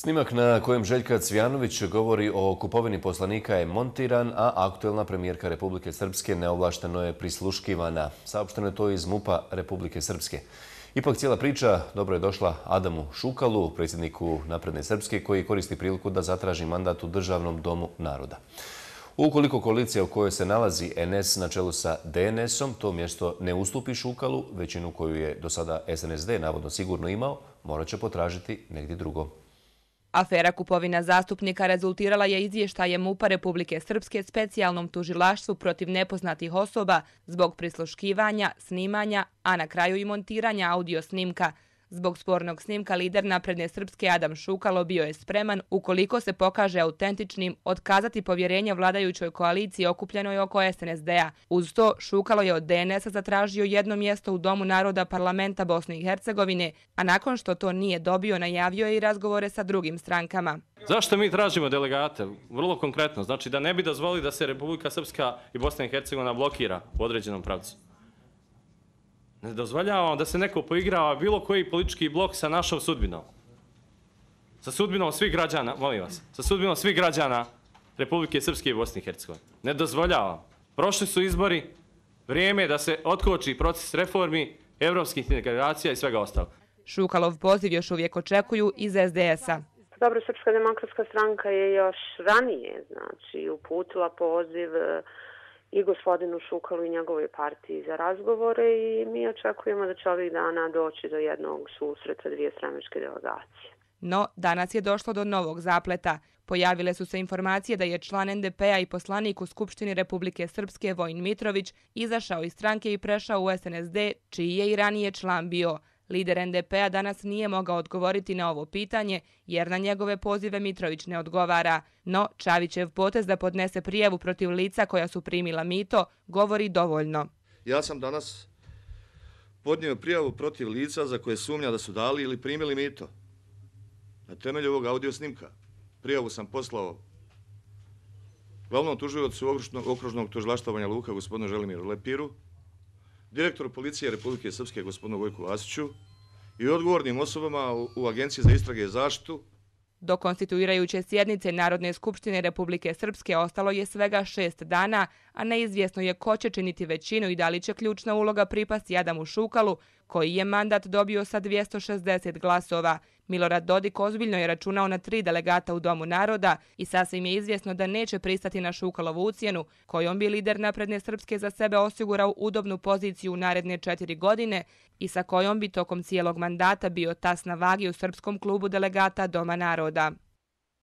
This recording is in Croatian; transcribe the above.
Snimak na kojem Željka Cvijanović govori o kupovini poslanika je montiran, a aktuelna premijerka Republike Srpske neovlašteno je prisluškivana. Saopšteno je to iz MUP-a Republike Srpske. Ipak cijela priča dobro je došla Adamu Šukalu, predsjedniku Napredne Srpske, koji koristi priliku da zatraži mandat u Državnom domu naroda. Ukoliko koalicija u kojoj se nalazi NS na čelu sa DNS-om to mjesto ne ustupi Šukalu, većinu koju je do sada SNSD navodno sigurno imao, morat će potražiti negdje drugo. Afera kupovina zastupnika rezultirala je izvještajem MUP-a Republike Srpske specijalnom tužilaštvu protiv nepoznatih osoba zbog prisluškivanja, snimanja, a na kraju i montiranja audio snimka. Zbog spornog snimka lider Napredne Srpske Adam Šukalo bio je spreman, ukoliko se pokaže autentičnim, otkazati povjerenje vladajućoj koaliciji okupljenoj oko SNSD-a. Uz to, Šukalo je od DNS-a zatražio jedno mjesto u Domu naroda parlamenta Bosne i Hercegovine, a nakon što to nije dobio, najavio je i razgovore sa drugim strankama. Zašto mi tražimo delegate? Vrlo konkretno, znači da ne bi dozvolili da se Republika Srpska i Bosna i Hercegovina blokira u određenom pravcu. Ne dozvoljavamo da se neko poigrava bilo koji politički blok sa našom sudbinom. Sa sudbinom svih građana, molim vas, sa sudbinom svih građana Republike Srpske i Bosne i Hercegovine. Ne dozvoljavam. Prošli su izbori, vrijeme je da se otkoči proces reformi, evropskih integracija i svega ostalo. Šukalov poziv još uvijek očekuju iz SDS-a. Dobro, Srpska demokratska stranka je još ranije, znači, uputila poziv i gospodinu Šukalu i njegovoj partiji za razgovore i mi očekujemo da će ovih dana doći do jednog susreta dvije stranačke delegacije. No, danas je došlo do novog zapleta. Pojavile su se informacije da je član NDP-a i poslanik u Skupštini Republike Srpske Vojin Mitrović izašao iz stranke i prešao u SNSD, čiji je i ranije član bio. Lider NDP-a danas nije mogao odgovoriti na ovo pitanje jer na njegove pozive Mitrović ne odgovara. No, Čavićev potez da podnese prijavu protiv lica koja su primila mito govori dovoljno. Ja sam danas podnio prijavu protiv lica za koje sumnja da su dali ili primili mito. Na temelju ovog audio snimka prijavu sam poslao glavnom tužiocu okružnog tužilaštva Banja Luka gospodinu Želimiru Lepiru, direktoru policije Republike Srpske gospodinu Vojku Vasiću i odgovornim osobama u Agenciji za istrage i zaštitu. Do konstituirajuće sjednice Narodne skupštine Republike Srpske ostalo je svega 6 dana, a neizvjesno je ko će činiti većinu i da li će ključna uloga pripasti Adamu Šukalu, koji je mandat dobio sa 260 glasova. Milorad Dodik ozbiljno je računao na 3 delegata u Domu naroda i sasvim je izvjesno da neće pristati na Šukalovu ucjenu, kojom bi lider Napredne Srpske za sebe osigurao udobnu poziciju u naredne 4 godine i sa kojom bi tokom cijelog mandata bio tas na vagi u Srpskom klubu delegata Doma naroda.